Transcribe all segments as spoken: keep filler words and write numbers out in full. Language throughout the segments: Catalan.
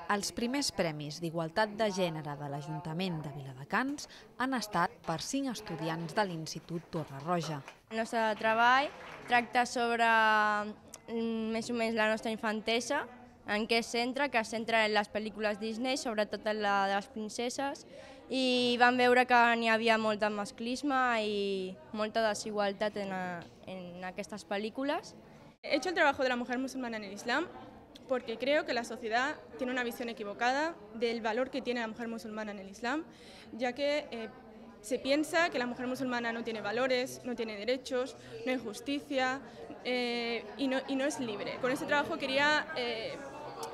Els primers premis d'Igualtat de Gènere de l'Ajuntament de Viladecans han estat per cinc estudiants de l'Institut Torre Roja. El nostre treball tracta sobre mm, més o menys la nostra infantesa, en què es centra, que es centra en les pel·lícules Disney, sobretot en la de les princeses, i vam veure que n'hi havia molt de masclisme i molta desigualtat en, a, en aquestes pel·lícules. He hecho el trabajo de la mujer musulmana en el Islam porque creo que la sociedad tiene una visión equivocada del valor que tiene la mujer musulmana en el Islam, ya que eh, se piensa que la mujer musulmana no tiene valores, no tiene derechos, no hay justicia eh, y, no, y no es libre. Con este trabajo quería eh,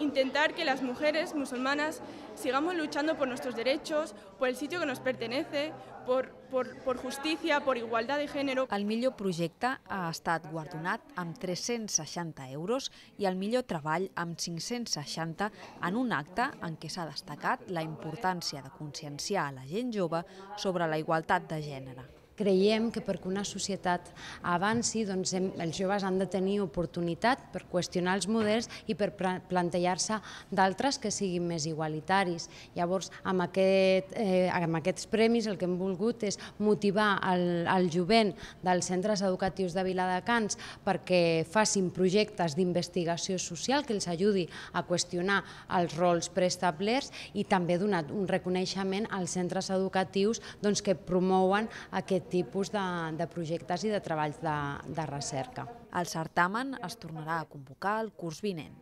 intentar que las mujeres musulmanas sigamos luchando por nuestros derechos, por el sitio que nos pertenece, por, por, por justicia, por igualdad de género. El millor projecte ha estat guardonat amb tres-cents seixanta euros i el millor treball amb cinc-cents seixanta en un acte en què s'ha destacat la importància de conscienciar a la gent jove sobre la igualtat de gènere. Creiem que perquè una societat avanci, doncs, els joves han de tenir oportunitat per qüestionar els models i per plantejar-se d'altres que siguin més igualitaris. Llavors, amb, aquest, eh, amb aquests premis el que hem volgut és motivar el, el jovent dels centres educatius de Viladecans perquè facin projectes d'investigació social que els ajudi a qüestionar els rols preestablerts i també donar un reconeixement als centres educatius doncs, que promouen aquest tipus de, de projectes i de treballs de, de recerca. El certamen es tornarà a convocar el curs vinent.